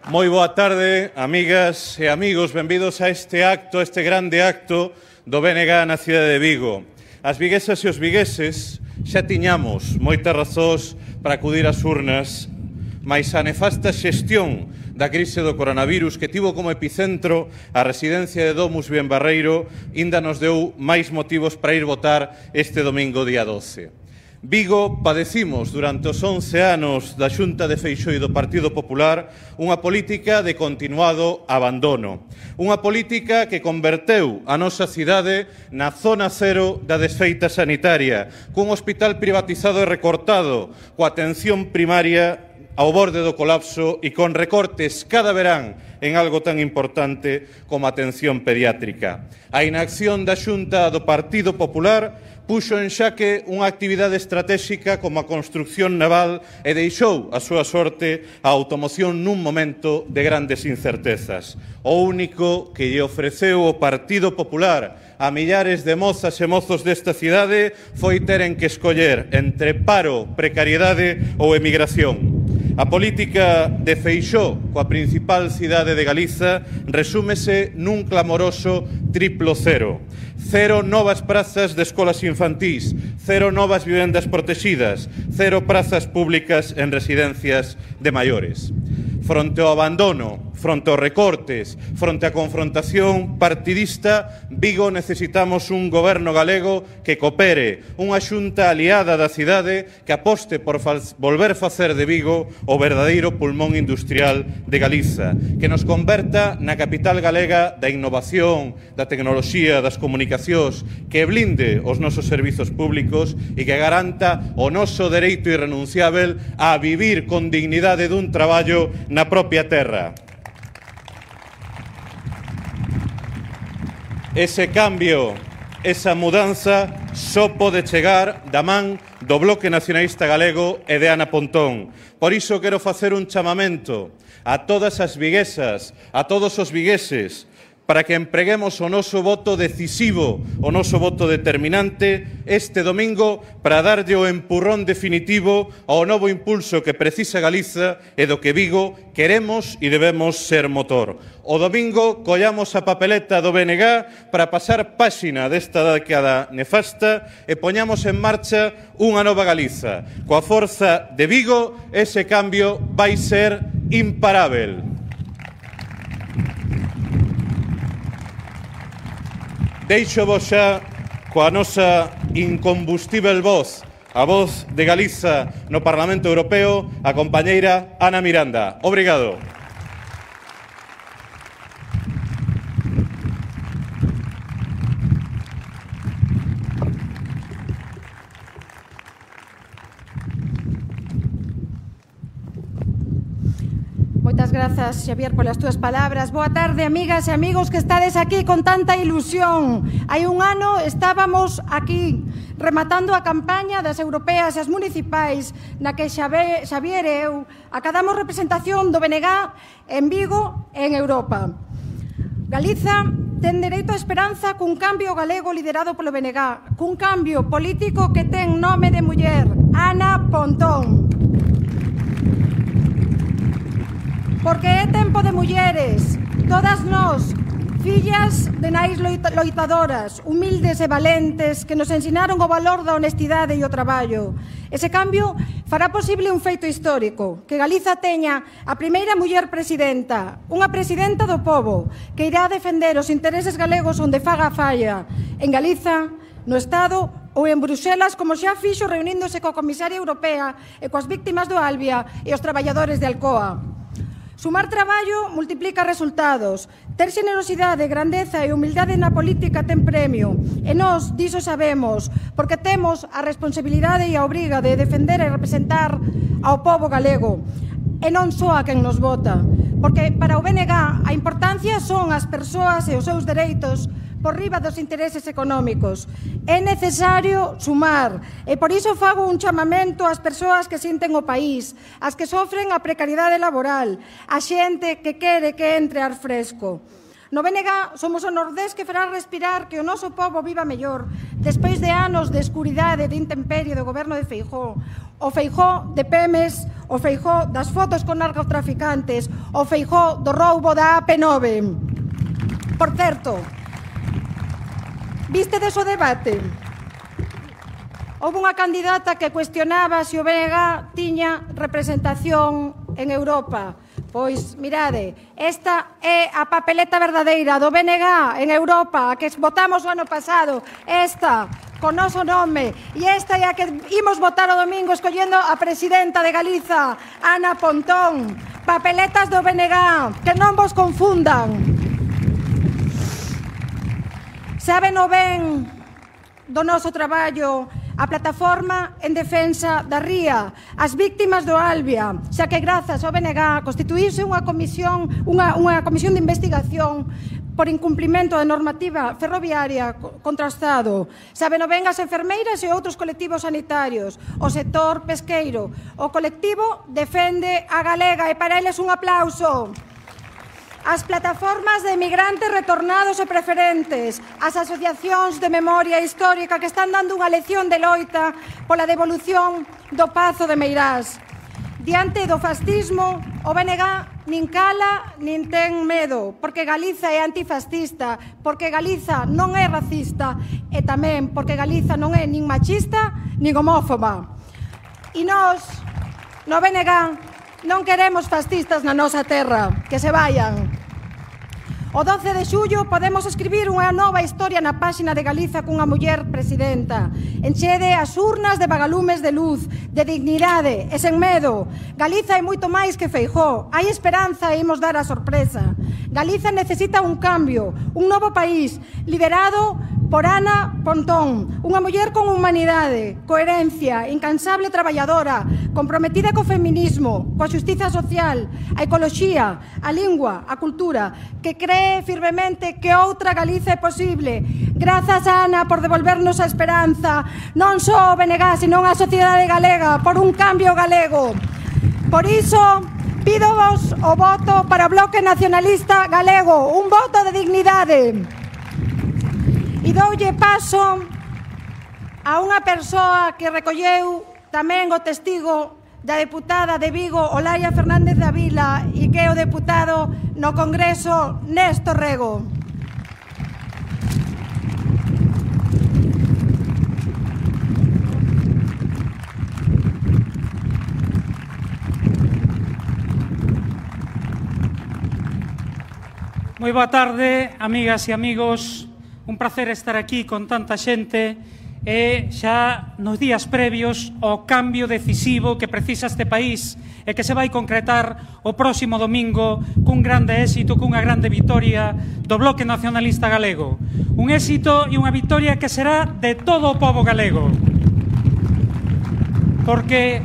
Moi boa tarde, amigas e amigos, benvidos a este acto, a este grande acto do BNG na cidade de Vigo. As viguesas e os vigueses xa tiñamos moitas razóns para acudir ás urnas, mais a nefasta xestión da crise do coronavirus que tivo como epicentro a residencia de Domus Bienbarreiro inda nos deu máis motivos para ir votar este domingo día 12. Vigo padecimos durante os 11 anos da Xunta de Feixóo e do Partido Popular unha política de continuado abandono. Unha política que converteu a nosa cidade na zona cero da desfeita sanitaria, cun hospital privatizado e recortado, coa atención primaria ao borde do colapso e con recortes cada verán en algo tan importante como a atención pediátrica. A inacción da Xunta do Partido Popular puxo en xaque unha actividade estratéxica como a construcción naval e deixou a súa sorte a automoción nun momento de grandes incertezas. O único que lle ofreceu o Partido Popular a millares de mozas e mozos desta cidade foi teren que escoller entre paro, precariedade ou emigración. A política de Feixóo coa principal cidade de Galiza resúmese nun clamoroso triplo cero. Cero novas prazas de escolas infantís, cero novas vivendas protegidas, cero prazas públicas en residencias de maiores. Fronte ao abandono, fronte aos recortes, fronte á confrontación partidista, Vigo necesitamos un goberno galego que coopere, unha xunta aliada da cidade que aposte por volver facer de Vigo o verdadeiro pulmón industrial de Galiza, que nos converta na capital galega da innovación, da tecnoloxía, das comunicacións, que blinde os nosos servizos públicos e que garanta o noso dereito irrenunciável a vivir con dignidade dun traballo na propia terra. Ese cambio, esa mudanza, só pode chegar da man do Bloque Nacionalista Galego e de Ana Pontón. Por iso quero facer un chamamento a todas as viguesas, a todos os vigueses, para que empreguemos o noso voto decisivo, o noso voto determinante este domingo para darlle o empurrón definitivo ao novo impulso que precisa Galiza e do que Vigo queremos e debemos ser motor. O domingo collamos a papeleta do BNG para pasar páxina desta década nefasta e poñamos en marcha unha nova Galiza. Coa forza de Vigo, ese cambio vai ser imparável. Deixo vos xa coa nosa incombustível voz, a voz de Galiza no Parlamento Europeo, a compañeira Ana Miranda. Obrigado. Moitas grazas, Xavier, polas túas palabras. Boa tarde, amigas e amigos que estades aquí con tanta ilusión. Hai un ano estábamos aquí rematando a campaña das europeas e as municipais na que Xavier e eu acadamos representación do BNG en Vigo e en Europa. Galiza ten dereito á esperanza cun cambio galego liderado polo BNG, cun cambio político que ten nome de muller, Ana Pontón. Porque é tempo de mulleres, todas nós, fillas de nais loitadoras, humildes e valentes que nos ensinaron o valor da honestidade e o traballo. Ese cambio fará posible un feito histórico, que Galiza teña a primeira muller presidenta, unha presidenta do pobo, que irá a defender os intereses galegos onde faga falla, en Galiza, no Estado ou en Bruxelas, como xa fixo reuníndose coa comisaria europea e coas víctimas do Albia e os traballadores de Alcoa. Sumar traballo multiplica resultados. Ter xenerosidade, grandeza e humildade na política ten premio. E nós diso sabemos, porque temos a responsabilidade e a obriga de defender e representar ao pobo galego. E non só a quen nos vota. Porque para o BNG a importancia son as persoas e os seus dereitos por riba dos intereses económicos. É necesario sumar e por iso fago un chamamento ás persoas que sinten o país, as que sofren a precariedade laboral, a xente que quere que entre ar fresco. No BNG somos o Nordés que fará respirar que o noso pobo viva mellor despois de anos de escuridade e de intemperie do goberno de Feijóo. O Feijóo de Pemes, o Feijóo das fotos con narcotraficantes, o Feijóo do roubo da AP9. Por certo, vistedes o debate? Houve unha candidata que cuestionaba se o BNG tiña representación en Europa. Pois, mirade, esta é a papeleta verdadeira do BNG en Europa, a que votamos o ano pasado, esta, con noso nome, e esta é a que imos votar o domingo escollendo a presidenta de Galiza, Ana Pontón. Papeletas do BNG, que non vos confundan. Saben o ben do noso traballo a plataforma en defensa da ría, as víctimas do Albia, xa que grazas ao BNG constituíse unha comisión de investigación por incumprimento da normativa ferroviaria contra o Estado. Saben o ben as enfermeiras e outros colectivos sanitarios, o sector pesqueiro. O colectivo defende a galega e para eles un aplauso. As plataformas de emigrantes retornados e preferentes, as asociacións de memoria histórica que están dando unha lección de loita pola devolución do Pazo de Meirás. Diante do fascismo, o BNG nin cala nin ten medo, porque Galiza é antifascista, porque Galiza non é racista e tamén porque Galiza non é nin machista nin homófoba. E nós, no BNG, non queremos fascistas na nosa terra, que se vayan. O 12 de xullo podemos escribir unha nova historia na páxina de Galiza cunha muller presidenta. Enchede as urnas de vagalumes de luz, de dignidade e sen medo. Galiza é moito máis que Feijóo. Hai esperanza e imos dar a sorpresa. Galiza necesita un cambio, un novo país, liderado por Ana Pontón, unha muller con humanidade, coherencia, incansable traballadora, comprometida co feminismo, coa xustiza social, a ecoloxía, a lingua, a cultura, que cree firmemente que outra Galiza é posible. Grazas, Ana, por devolvernos a esperanza, non só o BNG, senón a sociedade galega, por un cambio galego. Por iso, pídovos o voto para o Bloque Nacionalista Galego, un voto de dignidade. E doulle paso a unha persoa que recolleu tamén o testigo da deputada de Vigo, Olaia Fernández da Vila, e que é o deputado no Congreso, Néstor Rego. Moi boa tarde, amigas e amigos. Un placer estar aquí con tanta xente e xa nos días previos ao cambio decisivo que precisa este país e que se vai concretar o próximo domingo cun grande éxito, cunha grande vitoria do Bloque Nacionalista Galego. Un éxito e unha vitoria que será de todo o pobo galego. Porque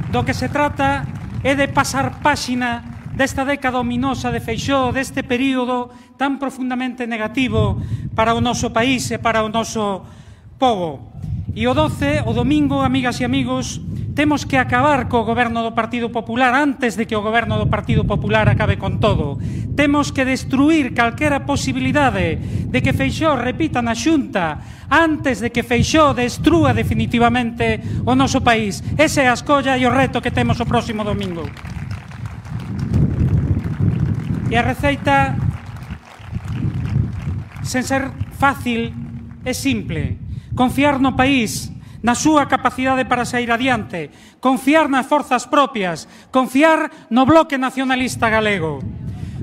do que se trata é de pasar páxina desta década ominosa de Feijóo, deste período tan profundamente negativo para o noso país e para o noso pobo. E o 12, o domingo, amigas e amigos, temos que acabar co goberno do Partido Popular antes de que o goberno do Partido Popular acabe con todo. Temos que destruir calquera posibilidade de que Feijóo repita na Xunta antes de que Feijóo destrúa definitivamente o noso país. Esa é a escolla e o reto que temos o próximo domingo. E a receita, sen ser fácil, é simple. Confiar no país, na súa capacidade para sair adiante, confiar nas forzas propias, confiar no Bloque Nacionalista Galego.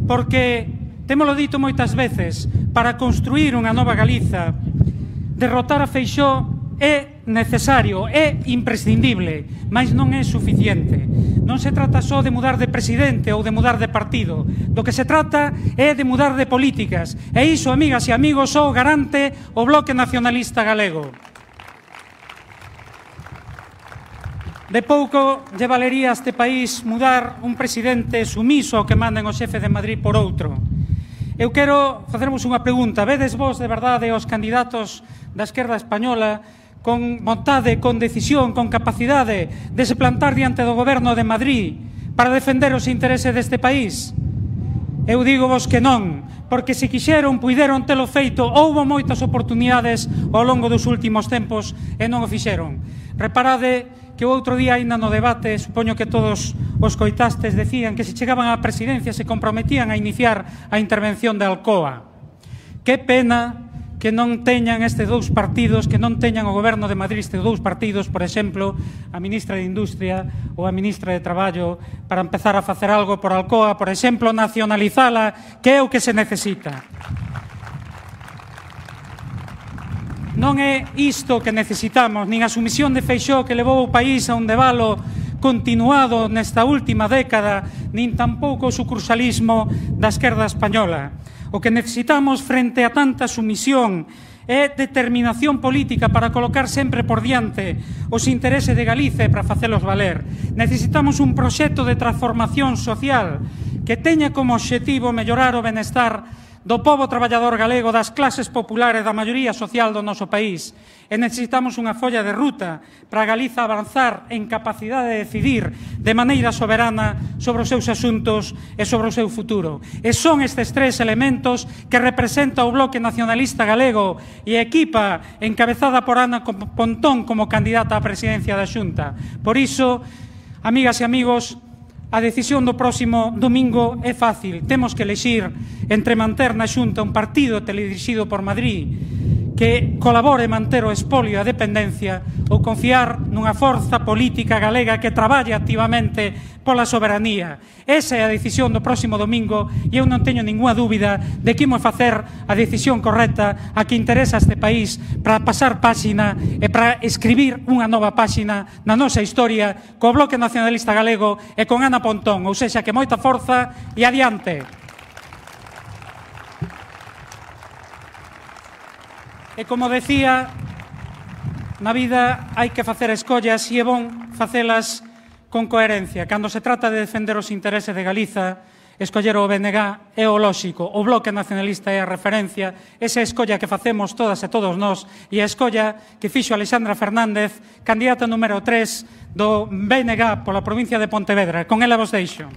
Porque, témolo dito moitas veces, para construir unha nova Galiza, derrotar a Feijóo é necesario, é imprescindible, mas non é suficiente. Non se trata só de mudar de presidente ou de mudar de partido. Do que se trata é de mudar de políticas. E iso, amigas e amigos, só garante o Bloque Nacionalista Galego. De pouco lle valería a este país mudar un presidente sumiso ao que manden o xefe de Madrid por outro. Eu quero facervos unha pregunta. Vedes vos de verdade os candidatos da esquerda española con vontade, con decisión, con capacidade de se plantar diante do goberno de Madrid para defender os intereses deste país? Eu digo vos que non, porque se quixeron, puideron telo feito, houbo moitas oportunidades ao longo dos últimos tempos e non o fixeron. Reparade que o outro día, ainda no debate, supoño que todos os coitastes, decían que se chegaban á presidencia se comprometían a iniciar a intervención de Alcoa. Que pena que non teñan estes dous partidos, que non teñan o goberno de Madrid estes dous partidos, por exemplo, a ministra de Industria ou a ministra de Traballo, para empezar a facer algo por Alcoa, por exemplo, nacionalizala, que é o que se necesita. Non é isto que necesitamos, nin a sumisión de Feixóo que levou o país a un debalo continuado nesta última década, nin tampouco o sucursalismo da esquerda española. O que necesitamos frente a tanta sumisión é determinación política para colocar sempre por diante os intereses de Galicia e para facelos valer. Necesitamos un proxecto de transformación social que teña como obxectivo mellorar o benestar do pobo traballador galego, das clases populares, da maioría social do noso país. E necesitamos unha folla de ruta para Galiza avanzar en capacidade de decidir de maneira soberana sobre os seus asuntos e sobre o seu futuro. E son estes tres elementos que representa o Bloque Nacionalista Galego e a equipa encabezada por Ana Pontón como candidata á presidencia da Xunta. Por iso, amigas e amigos, a decisión do próximo domingo é fácil. Temos que elexir entre manter na Xunta un partido teledirixido por Madrid que colabore manter o espolio e a dependencia ou confiar nunha forza política galega que traballe activamente pola soberanía. Esa é a decisión do próximo domingo e eu non teño ninguna dúbida de que imos facer a decisión correcta a que interesa a este país para pasar páxina e para escribir unha nova páxina na nosa historia co Bloque Nacionalista Galego e con Ana Pontón. Ou sexa, que moita forza e adiante. E como decía, na vida hai que facer escollas e é bon facelas con coherencia. Cando se trata de defender os intereses de Galiza, escoller o BNG é o lóxico. O Bloque Nacionalista é a referencia. Esa escolla que facemos todas e todos nós e a escolla que fixo Alexandra Fernández, candidata número 3 do BNG pola provincia de Pontevedra. Con ela vos deixo.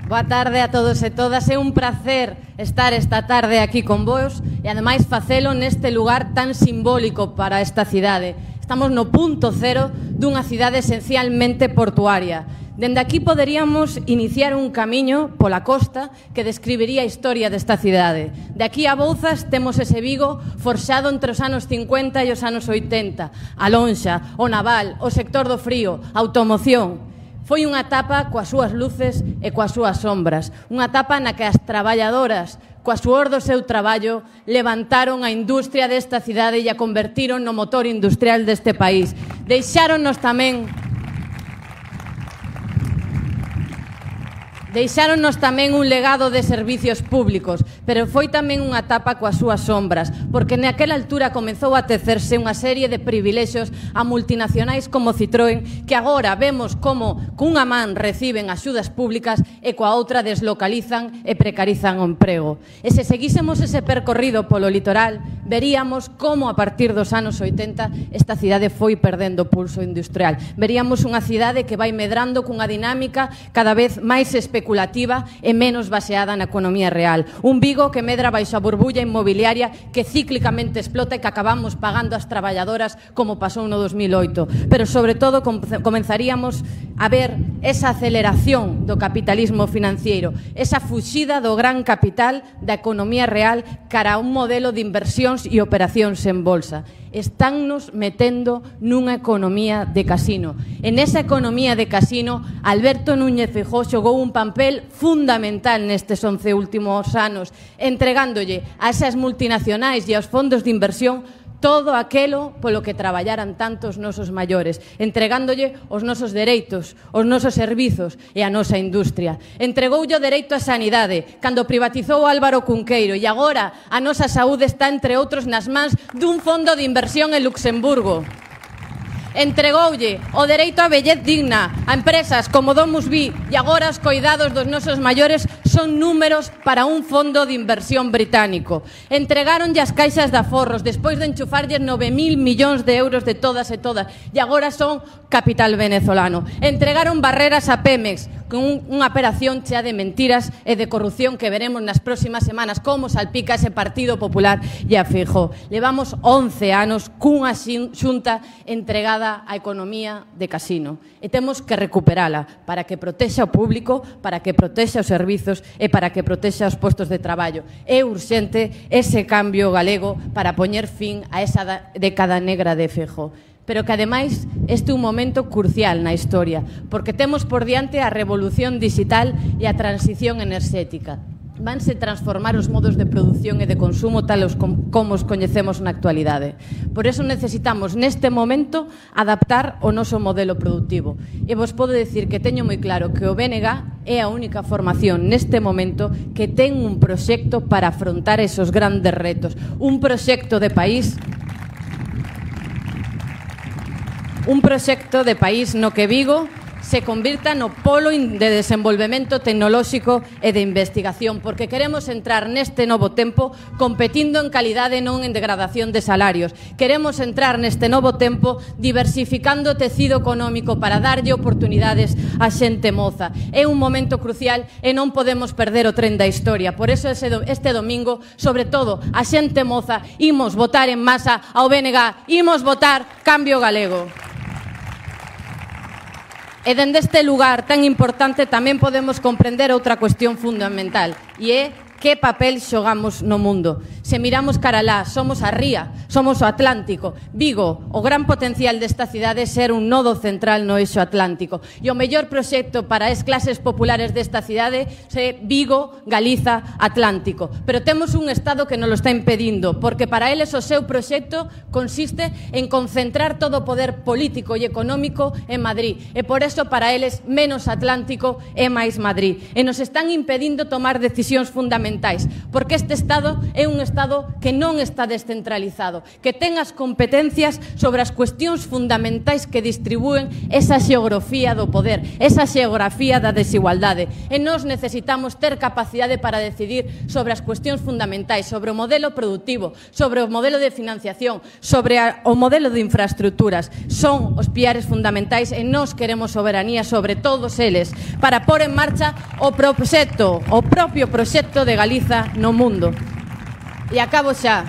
Boa tarde a todos e todas. É un placer estar esta tarde aquí con vos e ademais facelo neste lugar tan simbólico para esta cidade. Estamos no punto cero dunha cidade esencialmente portuaria. Dende aquí poderíamos iniciar un camiño pola costa que describiría a historia desta cidade. De aquí a Bouzas temos ese Vigo forxado entre os anos 50 e os anos 80. A lonxa, o naval, o sector do frío, a automoción. Foi unha etapa coas súas luces e coas súas sombras. Unha etapa na que as traballadoras, coa suor do seu traballo, levantaron a industria desta cidade e a convertiron no motor industrial deste país. Deixáronnos tamén un legado de servicios públicos, pero foi tamén unha etapa coas súas sombras, porque naquela altura comezou a tecerse unha serie de privilexios a multinacionais como Citroën, que agora vemos como cunha man reciben axudas públicas e coa outra deslocalizan e precarizan o emprego. E se seguísemos ese percorrido polo litoral, veríamos como a partir dos anos 80 esta cidade foi perdendo pulso industrial. Veríamos unha cidade que vai medrando cunha dinámica cada vez máis especulativa e menos baseada na economía real. Un Vigo que medra baixo a burbulla inmobiliaria que cíclicamente explota e que acabamos pagando as traballadoras como pasou no 2008. Pero sobre todo comenzaríamos a ver esa aceleración do capitalismo financiero, esa fuxida do gran capital da economía real cara a un modelo de inversións e operacións en bolsa. Estánnos metendo nunha economía de casino. En esa economía de casino, Alberto Núñez Feijóo xogou un papel fundamental nestes 11 últimos anos, entregándolle a esas multinacionais e aos fondos de inversión todo aquelo polo que traballaran tantos nosos maiores, entregándolle os nosos dereitos, os nosos servizos e a nosa industria. Entregoulle o dereito á sanidade cando privatizou Álvaro Cunqueiro e agora a nosa saúde está, entre outros, nas mans dun fondo de inversión en Luxemburgo. Entregoulle o dereito á vellez digna a empresas como DomusVi e agora os coidados dos nosos maiores son números para un fondo de inversión británico. Entregaronlle as caixas de aforros despois de enchufarlles 9.000 millóns de euros de todas e todas e agora son capital venezolano. Entregaron barreras a Pemex con unha operación chea de mentiras e de corrupción que veremos nas próximas semanas como salpica ese Partido Popular e a Feijóo. Levamos 11 anos cunha xunta entregada á economía de casino e temos que recuperala para que protexa o público, para que protexa os servizos e para que protexa os postos de traballo. É urxente ese cambio galego para poñer fin a esa década negra de Feijóo. Pero que, ademais, este é un momento crucial na historia, porque temos por diante a revolución digital e a transición enerxética. Vanse transformar os modos de produción e de consumo tal como os coñecemos na actualidade. Por eso necesitamos, neste momento, adaptar o noso modelo productivo. E vos podo dicir que teño moi claro que o BNG é a única formación neste momento que ten un proxecto para afrontar esos grandes retos. Un proxecto de país no que Vigo se convirta no polo de desenvolvemento tecnolóxico e de investigación, porque queremos entrar neste novo tempo competindo en calidade, non en degradación de salarios. Queremos entrar neste novo tempo diversificando o tecido económico para darlle oportunidades a xente moza. É un momento crucial e non podemos perder o tren da historia. Por eso este domingo, sobre todo, a xente moza, imos votar en masa ao BNG, imos votar Cambio Galego. E dende este lugar tan importante tamén podemos comprender outra cuestión fundamental e é que papel xogamos no mundo. Se miramos cara lá, somos a ría, somos o Atlántico. Vigo, o gran potencial desta cidade é ser un nodo central no eixo atlántico. E o mellor proxecto para as clases populares desta cidade é Vigo, Galiza, Atlántico. Pero temos un Estado que nos lo está impedindo, porque para eles o seu proxecto consiste en concentrar todo o poder político e económico en Madrid. E por eso para eles menos Atlántico é máis Madrid. E nos están impedindo tomar decisións fundamentales, porque este Estado é un Estado que non está descentralizado, que ten as competencias sobre as cuestións fundamentais que distribúen esa xeografía do poder, esa xeografía da desigualdade. E nós necesitamos ter capacidade para decidir sobre as cuestións fundamentais, sobre o modelo productivo, sobre o modelo de financiación, sobre o modelo de infraestructuras. Son os piares fundamentais e nós queremos soberanía sobre todos eles para pôr en marcha o propio proxecto de Galiza no mundo. E acabo xa.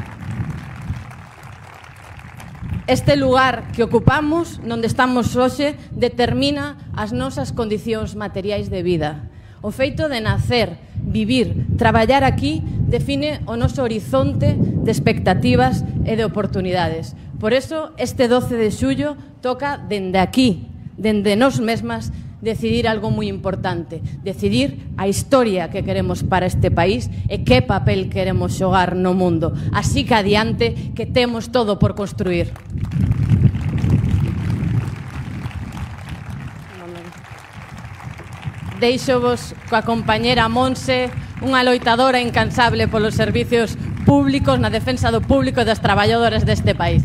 Este lugar que ocupamos, onde estamos hoxe, determina as nosas condicións materiais de vida. O feito de nacer, vivir, traballar aquí, define o noso horizonte de expectativas e de oportunidades. Por eso, este 12 de xullo toca dende aquí, dende nós mesmas, decidir algo moi importante, decidir a historia que queremos para este país e que papel queremos xogar no mundo. Así que adiante, que temos todo por construir. Deixovos coa compañera Monse, unha loitadora incansable polos servicios públicos na defensa do público e das traballadoras deste país.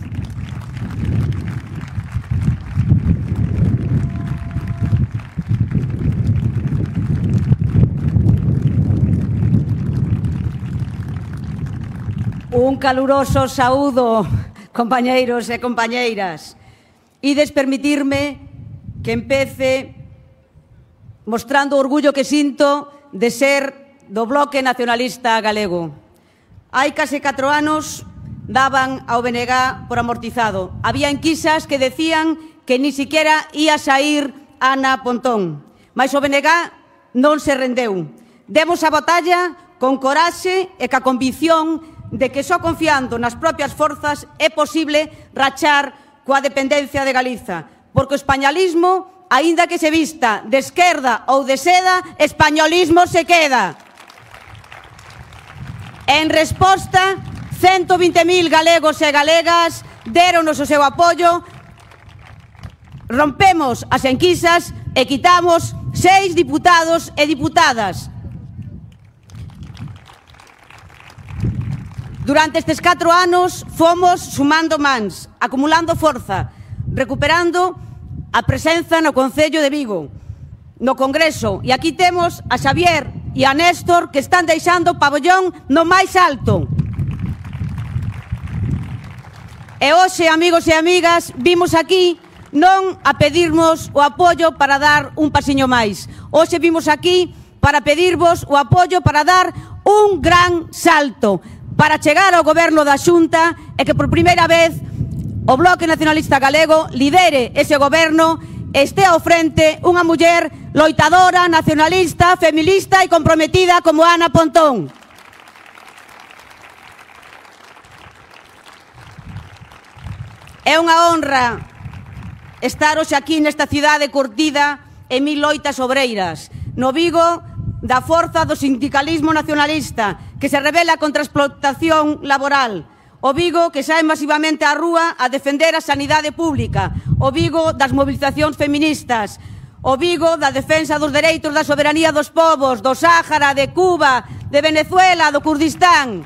Un caluroso saúdo, compañeiros e compañeiras. Ides permitirme que empece mostrando o orgullo que sinto de ser do Bloque Nacionalista Galego. Hai case 4 anos daban ao BNG por amortizado. Había enquisas que decían que ni siquiera ia sair Ana Pontón. Mas o BNG non se rendeu. Demos a batalla con coraxe e ca convicción de que só confiando nas propias forzas é posible rachar coa dependencia de Galiza, porque o españolismo, aínda que se vista de esquerda ou de seda, españolismo se queda. En resposta, 120.000 galegos e galegas deronos o seu apoio, rompemos as enquisas e quitamos 6 diputados e diputadas. Durante estes 4 anos fomos sumando mans, acumulando forza. recuperando a presenza no Concello de Vigo, no Congreso. E aquí temos a Xavier e a Néstor que están deixando o pabellón no máis alto. E hoxe, amigos e amigas, vimos aquí non a pedirmos o apoio para dar un pasiño máis. Hoxe vimos aquí para pedirvos o apoio para dar un gran salto, para chegar ao goberno da Xunta e que por primeira vez o Bloque Nacionalista Galego lidere ese goberno e este ao frente unha muller loitadora, nacionalista, feminista e comprometida como Ana Pontón. É unha honra estar hoxe aquí nesta cidade curtida en mil loitas obreiras, no Vigo da forza do sindicalismo nacionalista que se rebela contra a explotación laboral, o Vigo que sae masivamente á rúa a defender a sanidade pública, o Vigo das movilizacións feministas, o Vigo da defensa dos dereitos da soberanía dos povos, do Sáhara, de Cuba, de Venezuela, do Kurdistán.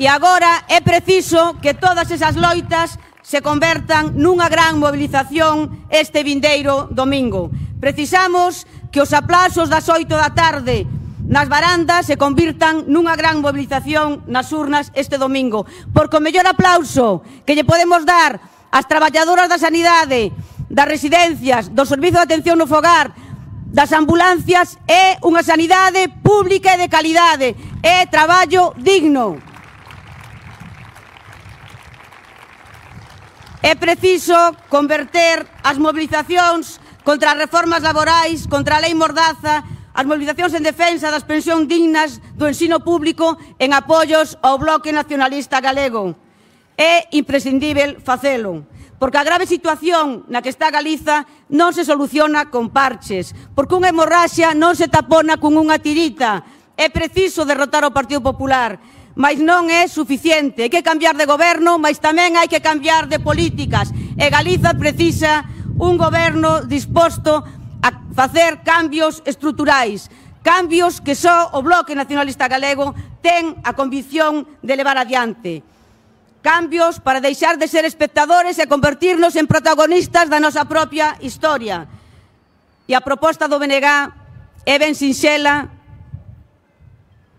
E agora é preciso que todas esas loitas se convertan nunha gran movilización este vindeiro domingo. Precisamos que os aplausos das 8 da tarde nas varandas se convirtan nunha gran movilización nas urnas este domingo. Porque o mellor aplauso que lle podemos dar ás traballadoras da sanidade, das residencias, do servizo de atención no fogar, das ambulancias, é unha sanidade pública e de calidade, é traballo digno. É preciso converter as movilizacións contra as reformas laborais, contra a lei Mordaza, as movilizacións en defensa das pensións dignas do ensino público en apoios ao Bloque Nacionalista Galego. É imprescindível facelo, porque a grave situación na que está Galiza non se soluciona con parches, porque unha hemorraxia non se tapona con unha tirita. É preciso derrotar o Partido Popular, mas non é suficiente. Hai que cambiar de goberno, mas tamén hai que cambiar de políticas. E Galiza precisa un goberno disposto a facer cambios estruturais, cambios que só o Bloque Nacionalista Galego ten a convicción de levar adiante. Cambios para deixar de ser espectadores e convertirnos en protagonistas da nosa propia historia. E a proposta do BNG é ben sinxela,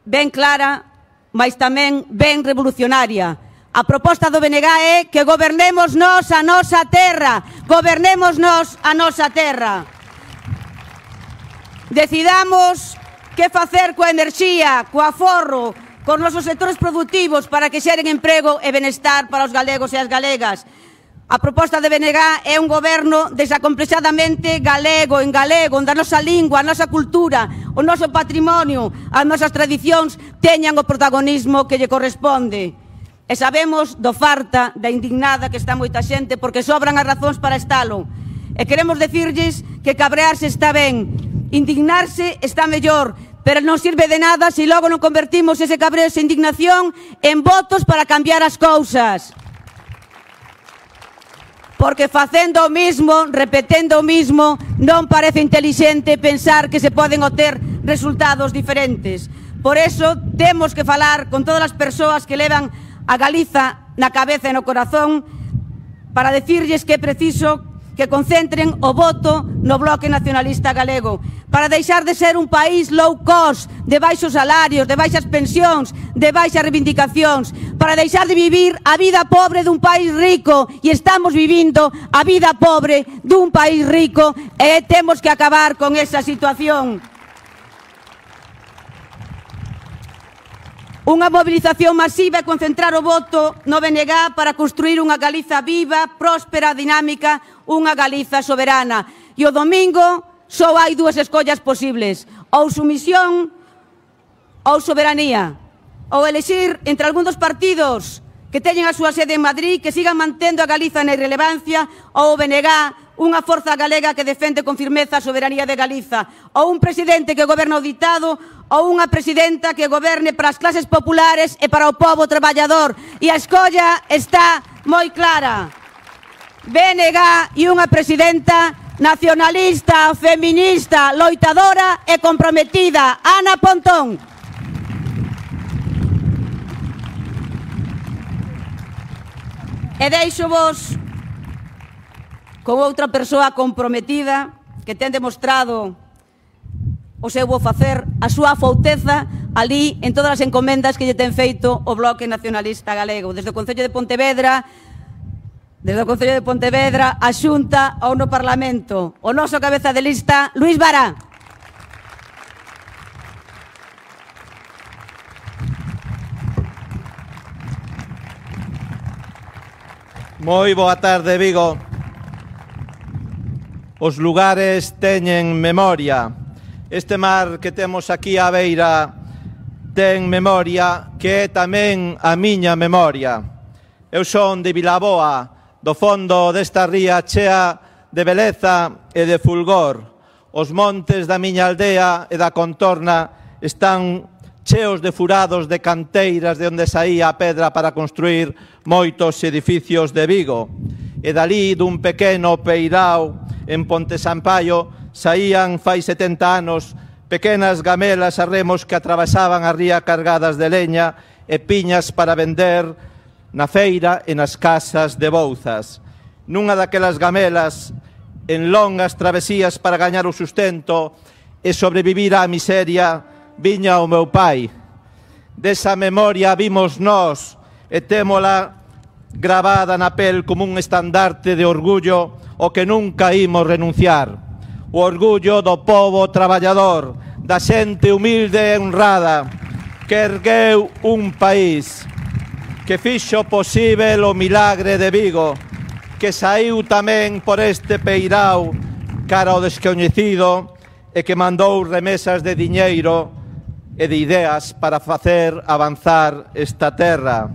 ben clara, mas tamén ben revolucionaria. A proposta do BNG é que gobernemos nós a nosa terra, gobernemos nós a nosa terra. Decidamos que facer coa enerxía, co aforro, cos nosos sectores productivos para que xeren emprego e benestar para os galegos e as galegas. A proposta de BNG é un goberno desacomplexadamente galego, en galego, onde a nosa lingua, a nosa cultura, o noso patrimonio, as nosas tradicións teñan o protagonismo que lle corresponde. E sabemos do farta, da indignada que está moita xente, porque sobran as razóns para estalo. E queremos decirlles que cabrearse está ben, indignarse está mellor, pero non sirve de nada se logo non convertimos ese cabreo, esa indignación, en votos para cambiar as cousas. Porque facendo o mismo, repetendo o mismo, non parece intelixente pensar que se poden obter resultados diferentes. Por eso temos que falar con todas as persoas que levan a Galiza na cabeza e no corazón para decirlles que é preciso que concentren o voto no Bloque Nacionalista Galego, para deixar de ser un país low cost, de baixos salarios, de baixas pensións, de baixas reivindicacións, para deixar de vivir a vida pobre dun país rico, e estamos vivindo a vida pobre dun país rico, e temos que acabar con esa situación. Unha movilización masiva e concentrar o voto no BNG para construir unha Galiza viva, próspera, dinámica, unha Galiza soberana. E o domingo só hai dúas escollas posibles, ou sumisión ou soberanía, ou elexir entre algún dos partidos que teñen a súa sede en Madrid, que sigan mantendo a Galiza na irrelevancia, ou o BNG, unha forza galega que defende con firmeza a soberanía de Galiza, ou un presidente que goberna o ditado, ou unha presidenta que goberne para as clases populares e para o pobo traballador. E a escolla está moi clara. BNG e unha presidenta nacionalista, feminista, loitadora e comprometida, Ana Pontón. E deixo vos con outra persoa comprometida que ten demostrado o seu bo facer, a súa afouteza ali en todas as encomendas que lle ten feito o Bloque Nacionalista Galego, desde o Concello de Pontevedra, a Xunta ou no Parlamento. O noso cabeza de lista, Luís Vara. Moi boa tarde, Vigo. Os lugares teñen memoria. Este mar que temos aquí á beira ten memoria, que é tamén a miña memoria. Eu son de Vilaboa, do fondo desta ría chea de beleza e de fulgor. Os montes da miña aldea e da contorna están cheos de furados de canteiras de onde saía a pedra para construir moitos edificios de Vigo. E dali dun pequeno peirao en Ponte Sampaio saían fai 70 anos pequenas gamelas a remos que atravesaban a ría cargadas de leña e piñas para vender na feira e nas casas de Bouzas. Nunha daquelas gamelas, en longas travesías para gañar o sustento e sobrevivir á miseria, viña o meu pai. Desa memoria vimos nós e témola gravada na pel como un estandarte de orgullo o que nunca imos renunciar. O orgullo do pobo traballador, da xente humilde e honrada, que ergueu un país, que fixo posíbel o milagre de Vigo, que saiu tamén por este peirao cara ao descoñecido e que mandou remesas de diñeiro e de ideas para facer avanzar esta terra.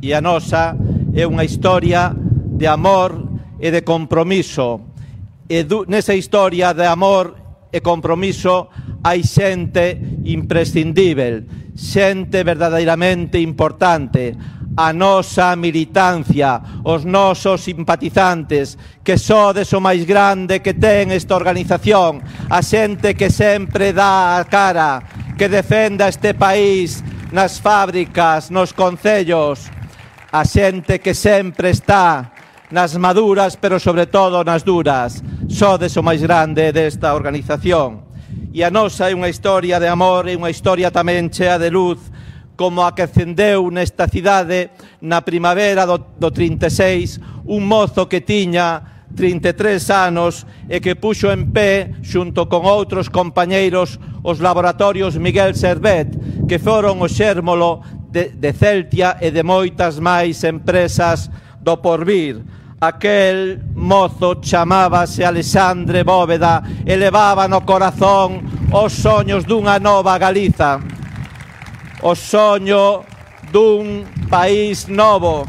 E a nosa é unha historia de amor e de compromiso. E nesa historia de amor e compromiso hai xente imprescindível, xente verdadeiramente importante, a nosa militancia, os nosos simpatizantes, que sodes o máis grande que ten esta organización, a xente que sempre dá a cara, que defenda este país nas fábricas, nos concellos, a xente que sempre está nas maduras, pero sobre todo nas duras. Sodes o máis grande desta organización. E a nosa é unha historia de amor e unha historia tamén chea de luz, como a que acendeu nesta cidade na primavera do 36 un mozo que tiña 33 anos e que puxo en pé, xunto con outros compañeiros, os laboratorios Miguel Servet, que foron o xérmolo de Celtia e de moitas máis empresas do porvir. Aquel mozo chamábase Alexandre Bóveda e levaba no corazón os soños dunha nova Galiza, o soño dun país novo,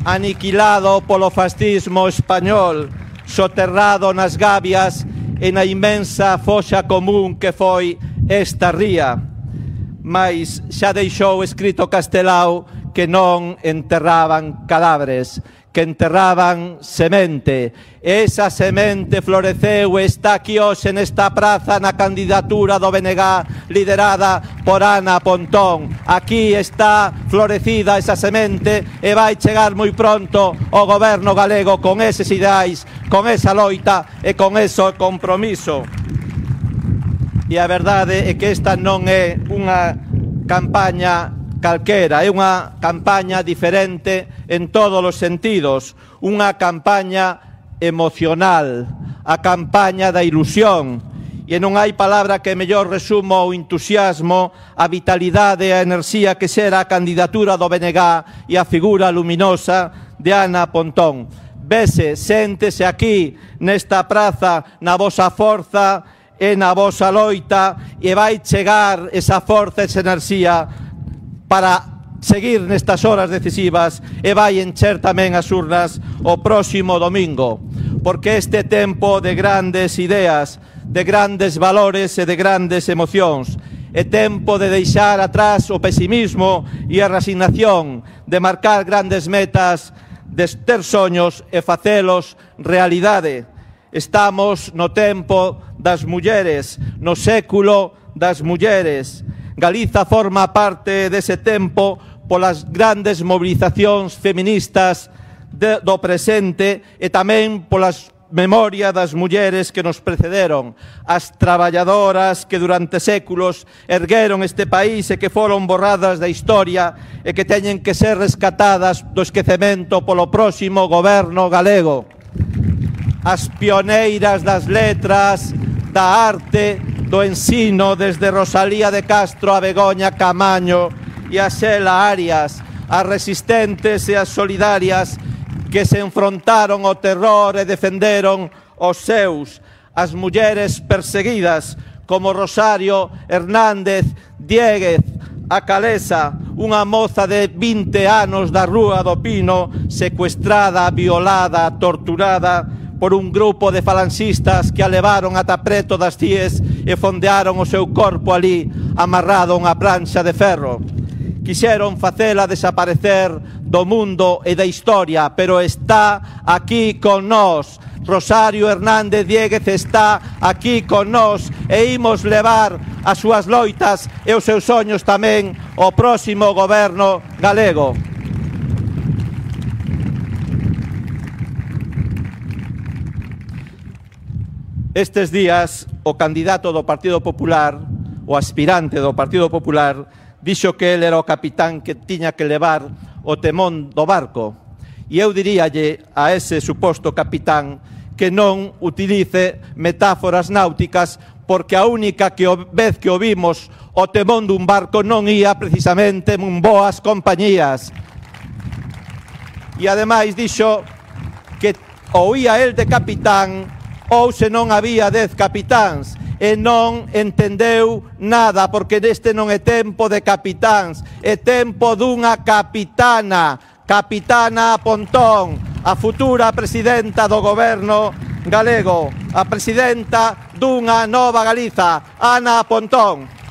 aniquilado polo fascismo español, soterrado nas gabias e na inmensa foxa común que foi esta ría. Mais xa deixou escrito Castelao que non enterraban cadáveres, que enterraban semente. Esa semente floreceu e está aquí hoxe nesta praza na candidatura do BNG liderada por Ana Pontón. Aquí está florecida esa semente e vai chegar moi pronto o goberno galego con eses ideais, con esa loita e con ese compromiso. E a verdade é que esta non é unha campaña calquera, é unha campaña diferente en todos os sentidos, unha campaña emocional, a campaña da ilusión, e non hai palabra que mellor resumo o entusiasmo, a vitalidade e a enerxía que xera a candidatura do BNG e a figura luminosa de Ana Pontón. Vese, séntese aquí nesta praza na vosa forza e na vosa loita e vai chegar esa forza e esa enerxía para seguir nestas horas decisivas e vai encher tamén as urnas o próximo domingo, porque este tempo de grandes ideas, de grandes valores e de grandes emocións, é tempo de deixar atrás o pesimismo e a resignación, de marcar grandes metas, de ter soños e facelos realidade. Estamos no tempo das mulleres, no século das mulleres. Galiza forma parte dese tempo polas grandes movilizacións feministas do presente e tamén polas memoria das mulleres que nos precederon, as traballadoras que durante séculos ergueron este país e que foron borradas da historia e que teñen que ser rescatadas do esquecemento polo próximo goberno galego. As pioneiras das letras, da arte, do ensino, desde Rosalía de Castro a Begoña Camaño e a Xela Arias, as resistentes e as solidarias que se enfrontaron ao terror e defenderon os seus, as mulleres perseguidas como Rosario Hernández Dieguez, a Calesa, unha moza de 20 anos da Rúa do Pino, secuestrada, violada, torturada por un grupo de falanxistas que a levaron ata preto das Cies e fondearon o seu corpo ali, amarrado a unha planxa de ferro. Quixeron facela desaparecer do mundo e da historia, pero está aquí con nós. Rosario Hernández Dieguez está aquí con nós e imos levar as súas loitas e os seus soños tamén ao próximo goberno galego. Estes días, o candidato do Partido Popular, o aspirante do Partido Popular, dixo que ele era o capitán que tiña que levar o temón do barco. E eu diríalle a ese suposto capitán que non utilice metáforas náuticas, porque a única vez que o vimos o temón dun barco non ía precisamente en boas compañías. E ademais dixo que ou ía el de capitán ou se non había 10 capitáns. E non entendeu nada, porque neste non é tempo de capitáns, é tempo dunha capitana, Capitana Pontón, a futura presidenta do goberno galego, a presidenta dunha nova Galiza, Ana Pontón.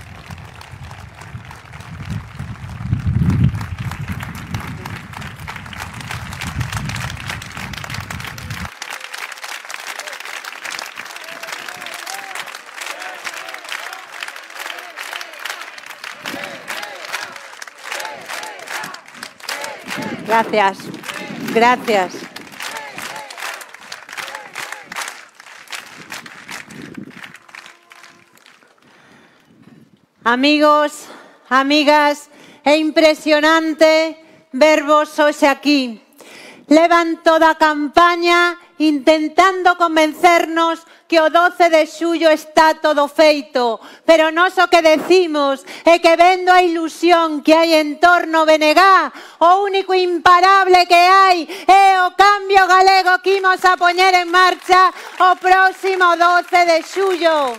Gracias. Gracias. Amigos, amigas, é impresionante vervos hoxe aquí. Levan toda a campaña intentando convencernos que o 12 de xullo está todo feito, pero nós o que decimos é que vendo a ilusión que hai en torno ao BNG, o único imparable que hai é o cambio galego que imos a poñer en marcha o próximo 12 de xullo.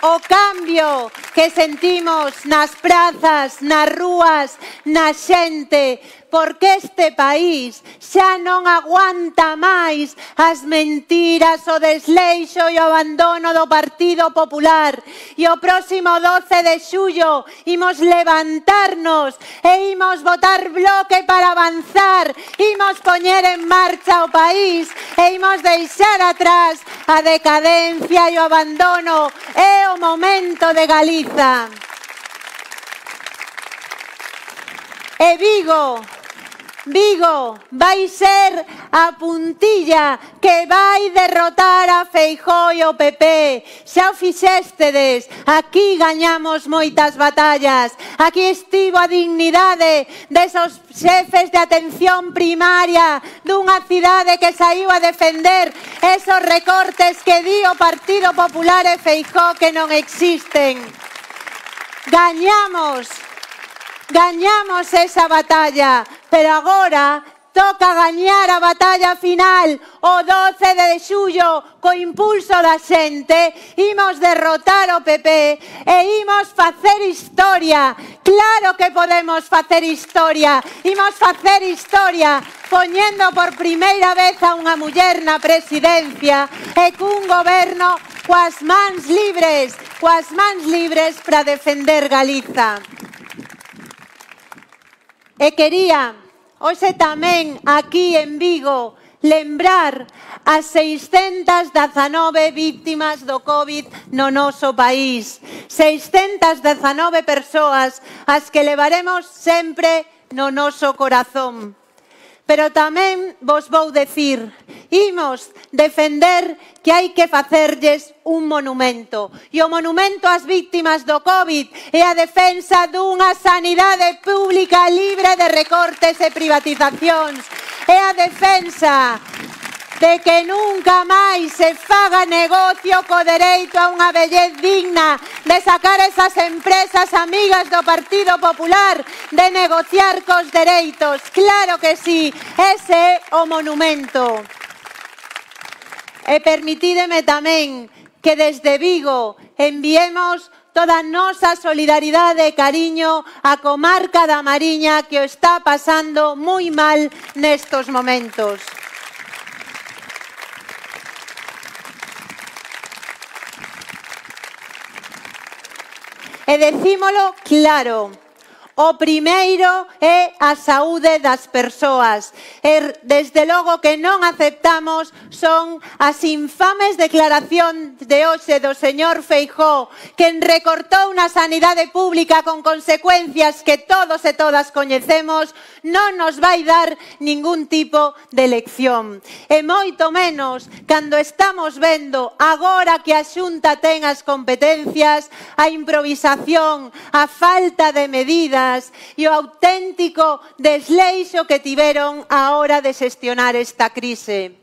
O cambio que sentimos nas prazas, nas rúas, na xente, porque este país xa non aguanta máis as mentiras, o desleixo e o abandono do Partido Popular. E o próximo 12 de xullo imos levantarnos e imos botar bloque para avanzar, imos poñer en marcha o país e imos deixar atrás a decadencia e o abandono. É o momento de Galiza. E Vigo vai ser a puntilla que vai derrotar a Feijóo e o PP. Xa o fixéstedes, aquí gañamos moitas batallas. Aquí estivo a dignidade desos xefes de atención primaria dunha cidade que saiu a defender esos recortes que di o Partido Popular e Feijóo que non existen. Gañamos esa batalla, pero agora toca gañar a batalla final o 12 de xullo co impulso da xente. Imos derrotar o PP e imos facer historia. Claro que podemos facer historia. Imos facer historia poñendo por primeira vez a unha muller na presidencia e cun goberno coas mans libres para defender Galiza. E quería, hoxe tamén aquí en Vigo, lembrar as 619 víctimas do COVID no noso país. 619 persoas as que levaremos sempre no noso corazón. Pero tamén vos vou decir, imos defender que hai que facerlles un monumento. E o monumento ás víctimas do COVID é a defensa dunha sanidade pública libre de recortes e privatizacións. É a defensa de que nunca máis se faga negocio co dereito a unha vellez digna, de sacar esas empresas amigas do Partido Popular, de negociar cos dereitos. Claro que sí, ese é o monumento. E permitídeme tamén que desde Vigo enviemos toda a nosa solidaridade e cariño á comarca da Mariña, que o está pasando moi mal nestos momentos. E decímolo claro, o primeiro é a saúde das persoas. E desde logo que non aceptamos son as infames declaracións de hoxe do señor Feijóo, quen recortou na sanidade pública con consecuencias que todos e todas coñecemos, non nos vai dar ningún tipo de lección. E moito menos cando estamos vendo agora que a Xunta ten as competencias, a improvisación, a falta de medidas e o auténtico desleixo que tiveron a hora de xestionar esta crise.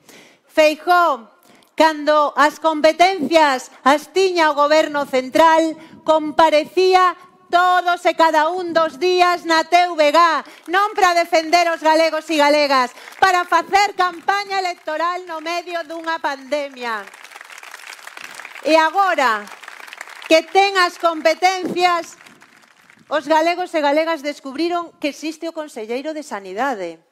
Feijóo, cando as competencias as tiña o Goberno central, comparecía todos e cada un dos días na TVG, non para defender os galegos e galegas, para facer campaña electoral no medio dunha pandemia. E agora que ten as competencias, os galegos e galegas descubriron que existe o Conselleiro de Sanidade.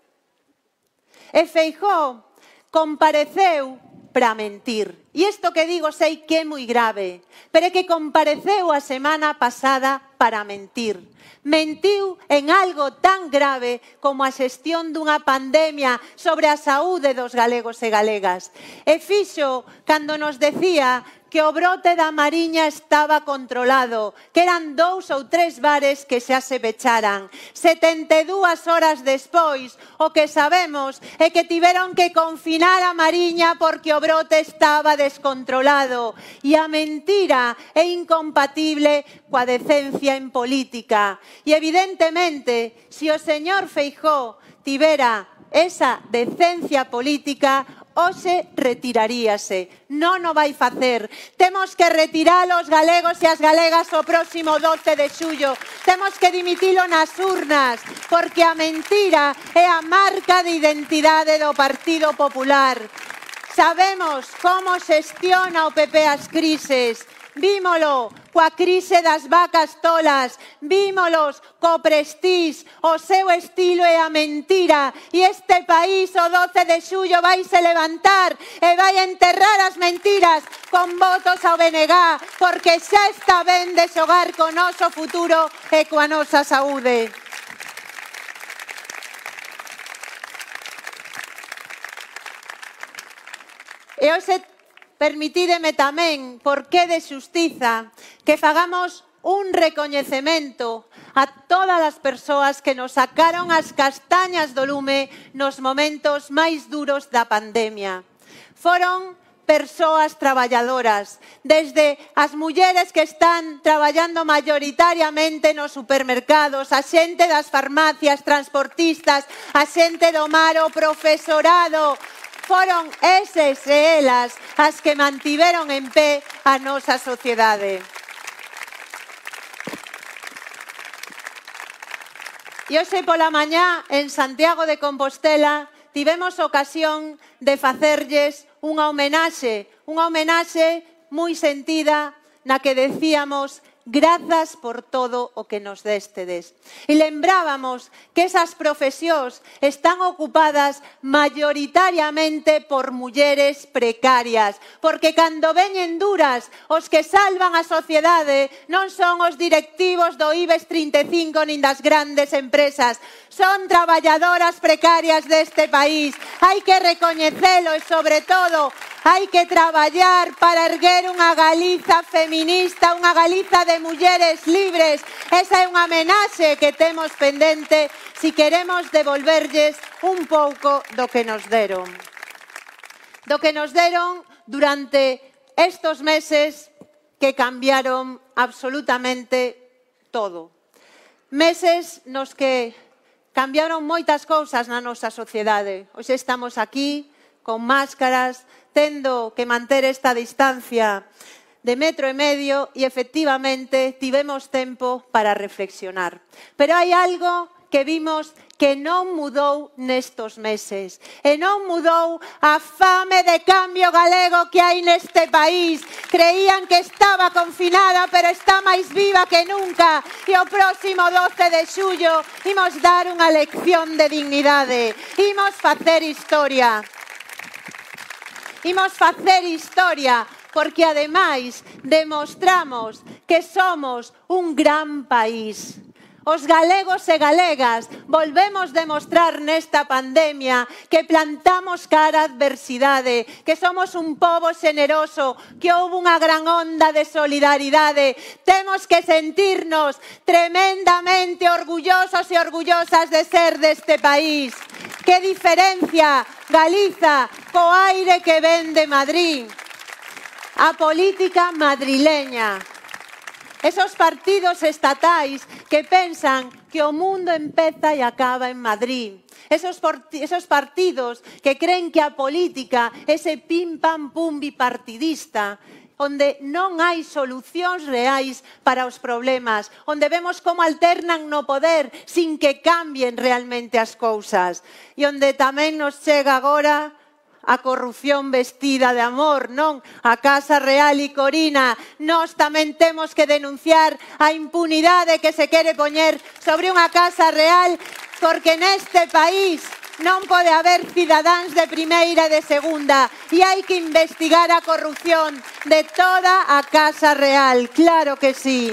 E Feijóo compareceu para mentir. E isto que digo sei que é moi grave, pero é que compareceu a semana pasada para mentir. Mentiu en algo tan grave como a xestión dunha pandemia sobre a saúde dos galegos e galegas. E fixo cando nos decía que o brote da Mariña estaba controlado, que eran 2 ou 3 bares que xa se pecharan. 72 horas despois, o que sabemos é que tiveron que confinar a Mariña porque o brote estaba descontrolado. E a mentira é incompatible coa decencia en política. E evidentemente, se o señor Feijóo tivera esa decencia política, hoxe retiraríase. Non o vai facer. Temos que retiralo os galegos e as galegas o próximo 12 de xullo. Temos que dimitilo nas urnas, porque a mentira é a marca de identidade do Partido Popular. Sabemos como xestiona o PP as crises. Vímolo coa crise das vacas tolas, vímolos co Prestige, o seu estilo é a mentira, e este país o 12 de xullo vai se levantar e vai enterrar as mentiras con votos ao BNG, porque xa está ben de xogar co noso futuro e coa nosa saúde. E hoxe permitídeme tamén, porque de xustiza, que fagamos un recoñecemento a todas as persoas que nos sacaron as castañas do lume nos momentos máis duros da pandemia. Foron persoas traballadoras, desde as mulleres que están traballando maioritariamente nos supermercados, a xente das farmacias, transportistas, a xente do mar, o profesorado. Foron eses e elas as que mantiveron en pé a nosa sociedade. E hoxe pola mañá, en Santiago de Compostela, tivemos ocasión de facerlles unha homenaxe moi sentida na que decíamos: grazas por todo o que nos destedes. E lembrábamos que esas profesións están ocupadas maioritariamente por mulleres precarias, porque cando veñen duras, os que salvan a sociedade non son os directivos do IBEX 35 nin das grandes empresas, son traballadoras precarias deste país. Hai que recoñecelo e, sobre todo, Hai que traballar para erguer unha Galiza feminista, unha Galiza de mulleres libres. Esa é unha homenaxe que temos pendente si queremos devolverlles un pouco do que nos deron. Do que nos deron durante estos meses que cambiaron absolutamente todo. Meses nos que cambiaron moitas cousas na nosa sociedade. Hoxe estamos aquí con máscaras, tendo que manter esta distancia de 1,5 metros e efectivamente tivemos tempo para reflexionar. Pero hai algo que vimos que non mudou nestos meses. E non mudou a fame de cambio galego que hai neste país. Creían que estaba confinada, pero está máis viva que nunca. E o próximo 12 de xullo imos dar unha lección de dignidade. Imos facer historia. Imos facer historia porque, ademais, demostramos que somos un gran país. Os galegos e galegas volvemos demostrar nesta pandemia que plantamos cara á adversidade, que somos un pobo xeneroso, que houve unha gran onda de solidaridade. Temos que sentirnos tremendamente orgullosos e orgullosas de ser deste país. Que diferencia Galiza co aire que ven de Madrid. A política madrileña. Esos partidos estatais que pensan que o mundo empeza e acaba en Madrid. Esos partidos que creen que a política é ese pim pam pum bipartidista, onde non hai solucións reais para os problemas, onde vemos como alternan no poder sin que cambien realmente as cousas, e onde tamén nos chega agora a corrupción vestida de amor, non? A Casa Real e Corina. Nós tamén temos que denunciar a impunidade que se quere poñer sobre unha Casa Real, porque neste país non pode haber cidadáns de primeira e de segunda, e hai que investigar a corrupción de toda a Casa Real, claro que sí.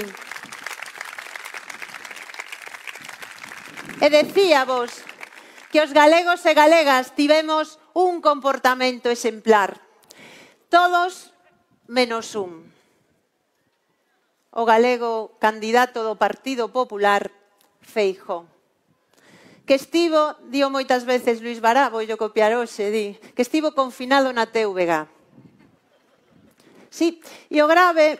E decíavos que os galegos e galegas tivemos un comportamento exemplar. Todos menos un. O galego candidato do Partido Popular, Feijóo. Que estivo, dio moitas veces Luis Bará, vou copiar hoxe, di, que estivo confinado na TVG. Sí, e o grave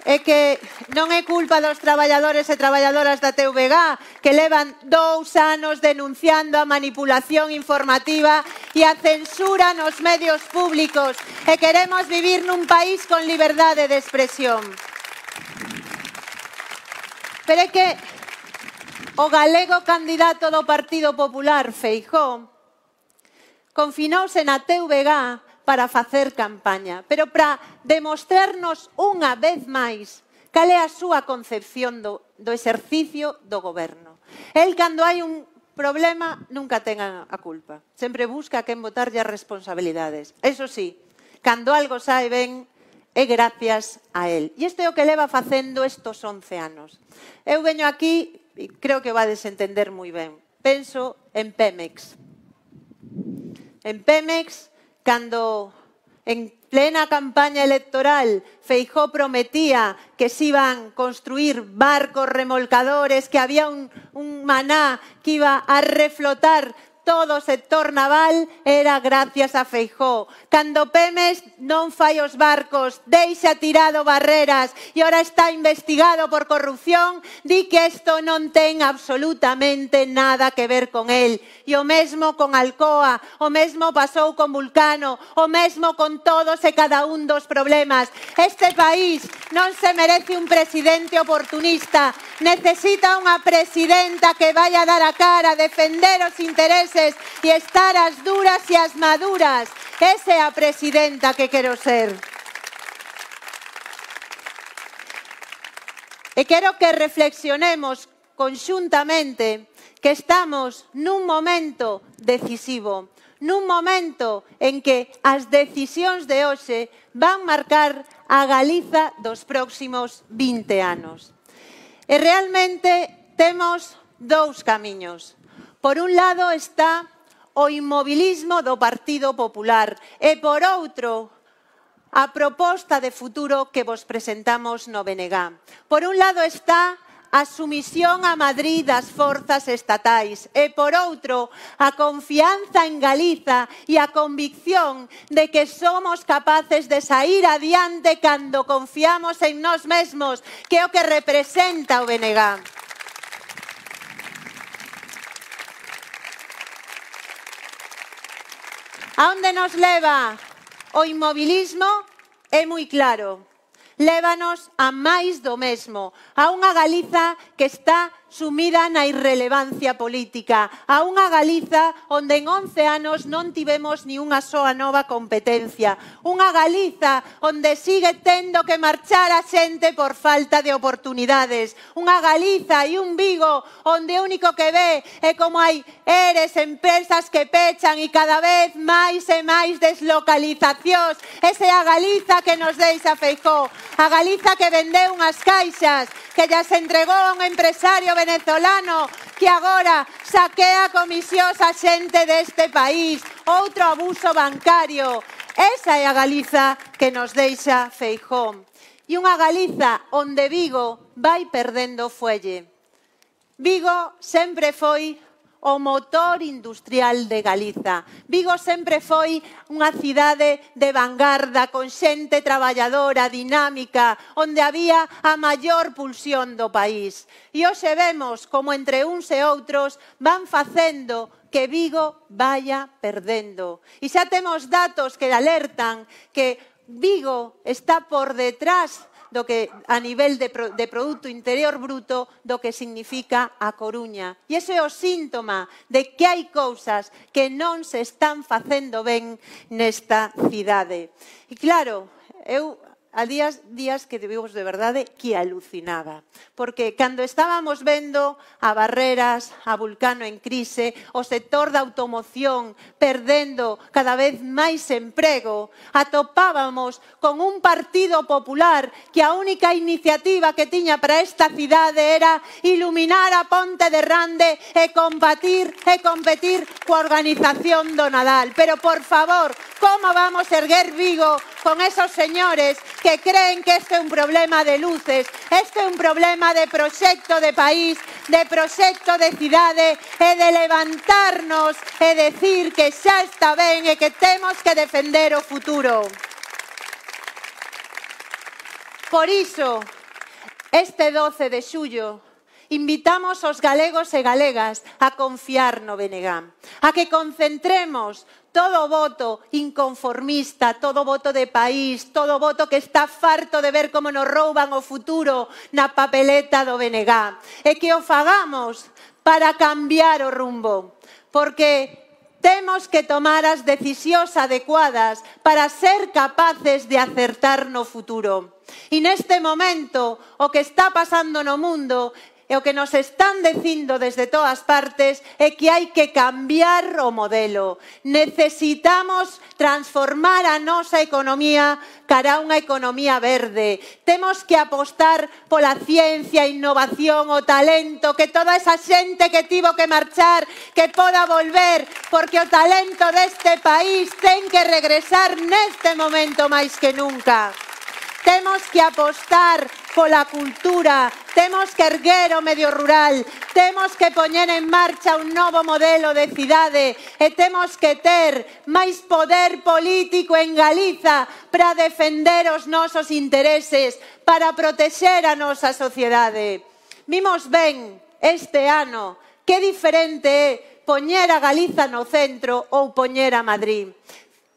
é que non é culpa dos traballadores e traballadoras da TVG, que levan 2 anos denunciando a manipulación informativa e a censura nos medios públicos, e queremos vivir nun país con liberdade de expresión. Pero é que o galego candidato do Partido Popular, Feijóo, confinouse na TVG para facer campaña, pero para demostrarnos unha vez máis cal é a súa concepción do exercicio do goberno. El, cando hai un problema, nunca ten a culpa. Sempre busca a quen botarlle as responsabilidades. Eso sí, cando algo sae ben, é gracias a el. E isto é o que leva facendo estos 11 anos. Eu veño aquí, e creo que vades entender moi ben. Penso en Pemex. En Pemex, cando en plena campaña electoral Feijóo prometía que se iban construir barcos remolcadores, que había un maná que iba a reflotar todo o sector naval, era gracias a Feijóo. Cando Pemex non fai os barcos, deixa tirado barreras e ora está investigado por corrupción, di que isto non ten absolutamente nada que ver con el. E o mesmo con Alcoa, o mesmo pasou con Vulcano, o mesmo con todos e cada un dos problemas. Este país non se merece un presidente oportunista, necesita unha presidenta que vaya a dar a cara, defender os intereses e estar as duras e as maduras. Esa é a presidenta que quero ser. E quero que reflexionemos conxuntamente que estamos nun momento decisivo, nun momento en que as decisións de hoxe van marcar a Galiza dos próximos 20 anos. E realmente temos 2 camiños. Por un lado está o inmobilismo do Partido Popular e, por outro, a proposta de futuro que vos presentamos no BNG. Por un lado está a sumisión a Madrid das forzas estatais e, por outro, a confianza en Galiza e a convicción de que somos capaces de sair adiante cando confiamos en nós mesmos, que é o que representa o BNG. A onde nos leva o inmobilismo é moi claro. Lévanos a máis do mesmo, a unha Galiza que está sumida na irrelevancia política, a unha Galiza onde en 11 anos non tivemos ni unha soa nova competencia, unha Galiza onde sigue tendo que marchar a xente por falta de oportunidades, unha Galiza e un Vigo onde o único que ve é como hai eres, empresas que pechan e cada vez máis e máis deslocalizacións. Esa é a Galiza que nos deixa Feijóo, a Galiza que vendeu unhas caixas, que llas entregou a un empresario venezolano que agora saquea comisións a xente deste país, outro abuso bancario. Esa é a Galiza que nos deixa Feijóo. E unha Galiza onde Vigo vai perdendo fuelle. Vigo sempre foi o motor industrial de Galiza. Vigo sempre foi unha cidade de vanguarda, con xente traballadora, dinámica, onde había a maior pulsión do país. E hoxe vemos como entre uns e outros van facendo que Vigo vaya perdendo. E xa temos datos que alertan que Vigo está por detrás do que a nivel de Produto Interior Bruto do que significa a Coruña. E ese é o síntoma de que hai cousas que non se están facendo ben nesta cidade. E claro, eu a días que vivimos de verdade que alucinaba, porque cando estábamos vendo a Barreras, a Vulcano en crise, o sector da automoción perdendo cada vez máis emprego, atopábamos con un Partido Popular que a única iniciativa que tiña para esta cidade era iluminar a Ponte de Rande e competir coa organización do Nadal. Pero, por favor, como vamos erguer Vigo con esos señores que creen que este é un problema de luces, este é un problema de proxecto de país, de proxecto de cidade e de levantarnos e decir que xa está ben e que temos que defender o futuro. Por iso, este 12 de xullo, invitamos aos galegos e galegas a confiar no BNG, a que concentremos todo o voto inconformista, todo o voto de país, todo o voto que está farto de ver como nos rouban o futuro na papeleta do BNG, e que o fagamos para cambiar o rumbo, porque temos que tomar as decisións adecuadas para ser capaces de acertar no futuro. E neste momento, o que está pasando no mundo e o que nos están dicindo desde todas partes é que hai que cambiar o modelo. Necesitamos transformar a nosa economía cara a unha economía verde. Temos que apostar pola ciencia, innovación, o talento, que toda esa xente que tivo que marchar, que poda volver, porque o talento deste país ten que regresar neste momento máis que nunca. Temos que apostar pola cultura, temos que erguer o medio rural, temos que poñer en marcha un novo modelo de cidade e temos que ter máis poder político en Galiza para defender os nosos intereses, para protexer a nosa sociedade. Vimos ben este ano que diferente é poñer a Galiza no centro ou poñer a Madrid.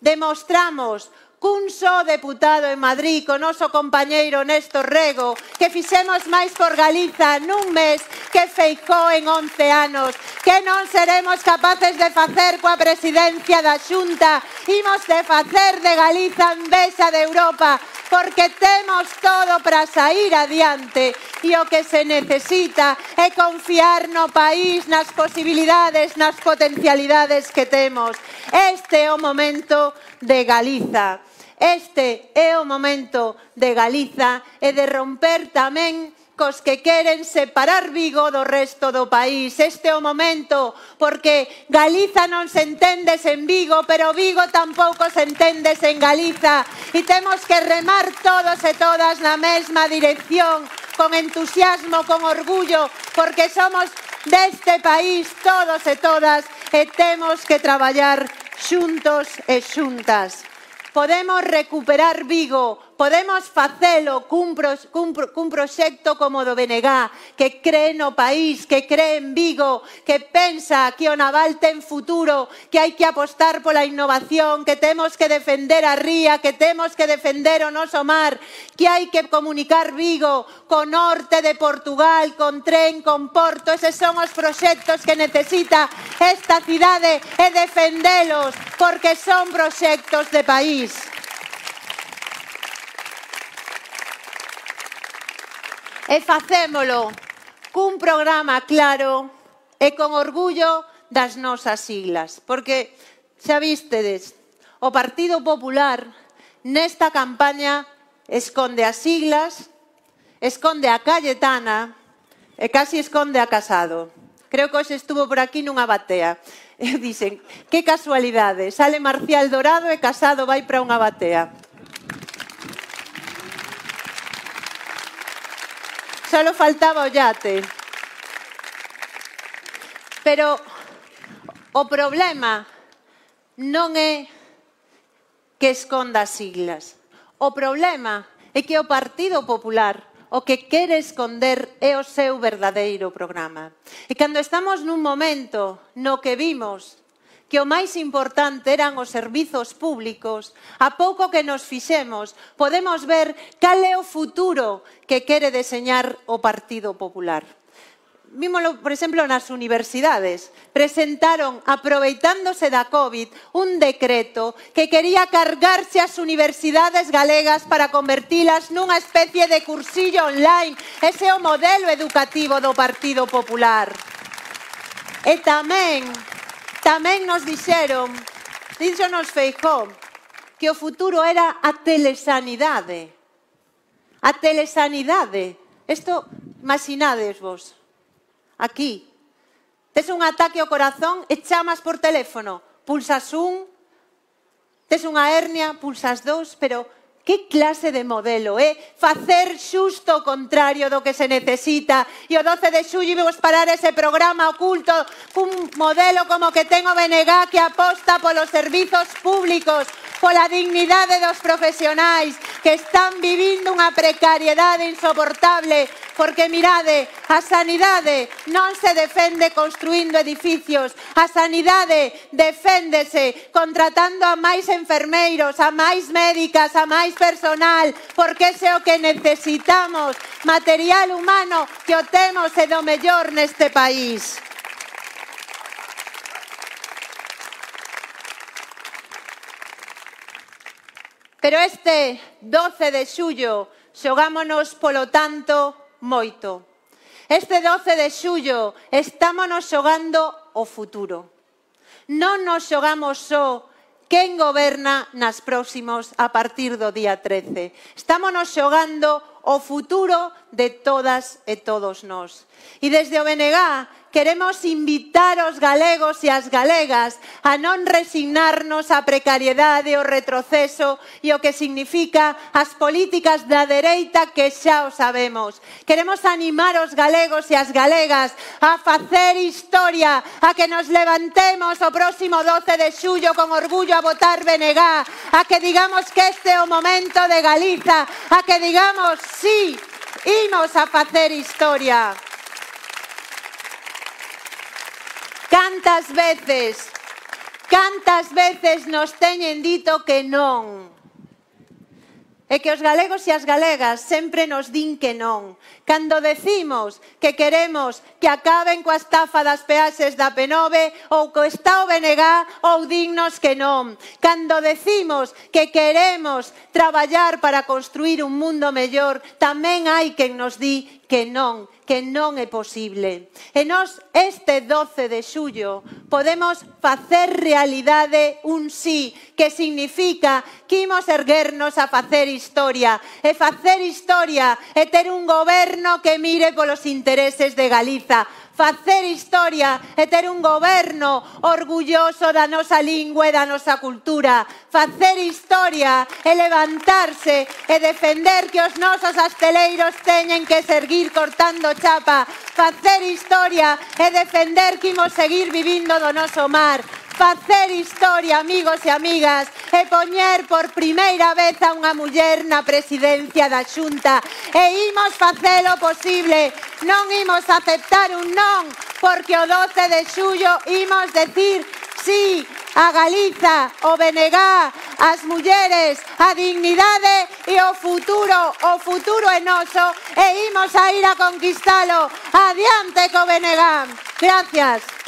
Demostramos cun só deputado en Madrid, con noso compañeiro Néstor Rego, que fixemos máis por Galiza nun mes que Feijóo en 11 anos, que non seremos capaces de facer coa presidencia da Xunta, imos de facer de Galiza envexa de Europa, porque temos todo para sair adiante e o que se necesita é confiar no país, nas posibilidades, nas potencialidades que temos. Este é o momento de Galiza. Este é o momento de Galiza e de romper tamén cos que queren separar Vigo do resto do país. Este é o momento, porque Galiza non se entende sen Vigo, pero Vigo tampouco se entende sen Galiza. E temos que remar todos e todas na mesma dirección, con entusiasmo, con orgullo, porque somos deste país todos e todas e temos que traballar xuntos e xuntas. Podemos recuperar Vigo, podemos facelo cun proxecto como do BNG, que cree no país, que cree en Vigo, que pensa que o naval ten futuro, que hai que apostar pola innovación, que temos que defender a ría, que temos que defender o noso mar, que hai que comunicar Vigo co norte de Portugal, con tren, con porto. Eses son os proxectos que necesita esta cidade e defendelos, porque son proxectos de país. E facémolo cun programa claro e con orgullo das nosas siglas. Porque, xa vistedes, o Partido Popular nesta campaña esconde as siglas, esconde a Cayetana e casi esconde a Casado. Creo que hoxe estuvo por aquí nunha batea. E dicen, que casualidade, sale Marcial Dorado e Casado vai para unha batea. Solo faltaba o yate. Pero o problema non é que esconda as siglas. O problema é que o Partido Popular o que quere esconder é o seu verdadeiro programa. E cando estamos nun momento no que vimos que o máis importante eran os servizos públicos, a pouco que nos fixemos, podemos ver cal é o futuro que quere deseñar o Partido Popular. Vímolo, por exemplo, nas universidades. Presentaron, aproveitándose da COVID, un decreto que quería cargarse as universidades galegas para convertilas nunha especie de cursillo online. Ese é o modelo educativo do Partido Popular. E tamén nos dixeron, díxonos Feijóo, que o futuro era a telesanidade. A telesanidade. Isto, imaginades vos. Aquí, tes un ataque ao corazón e chamas por teléfono, pulsas un, tes unha hernia, pulsas dos, pero que clase de modelo é facer xusto o contrario do que se necesita? E o 12 de xullo vimos parar ese programa oculto cun modelo como que ten o BNG, que aposta polos servizos públicos, pola dignidade dos profesionais que están vivindo unha precariedade insoportable, porque mirade, a sanidade non se defende construindo edificios, a sanidade deféndese contratando a máis enfermeiros, a máis médicas, a máis personal, porque ese é o que necesitamos, material humano que o temos e do mellor neste país. Pero este 12 de xullo xogámonos, polo tanto, moito. Este 12 de xullo estámonos xogando o futuro. Non nos xogamos só quen goberna nas próximos a partir do día 13. Estámonos xogando o futuro de todas e todos nós. E desde o BNG queremos invitar os galegos e as galegas a non resignarnos á precariedade, ao retroceso e o que significa as políticas da dereita, que xa o sabemos. Queremos animar os galegos e as galegas a facer historia, a que nos levantemos o próximo 12 de xullo con orgullo a votar BNG, a que digamos que este é o momento de Galiza, a que digamos sí, imos a facer historia. Cantas veces nos teñen dito que non. É que os galegos e as galegas sempre nos din que non. Cando decimos que queremos que acaben coa estafa das peaxes da P9 ou co está o BNG, ou dinnos que non. Cando decimos que queremos traballar para construir un mundo mellor, tamén hai quen nos di que non é posible. E nós este 12 de xullo podemos facer realidade un sí, que significa que imos erguernos a facer historia. E facer historia é ter un goberno que mire polos intereses de Galiza. Facer historia é ter un goberno orgulloso da nosa lingua e da nosa cultura. Facer historia é levantarse e defender que os nosos asteleiros teñen que seguir cortando chapa. Facer historia é defender que imos seguir vivindo do noso mar. Facer historia, amigos e amigas, e poñer por primeira vez a unha muller na presidencia da Xunta. E imos facelo posible. Non imos aceptar un non, porque o 12 de xullo imos decir sí a Galiza, o BNG, as mulleres, a dignidade e o futuro é noso e imos a ir a conquistalo. Adiante co BNG. Gracias.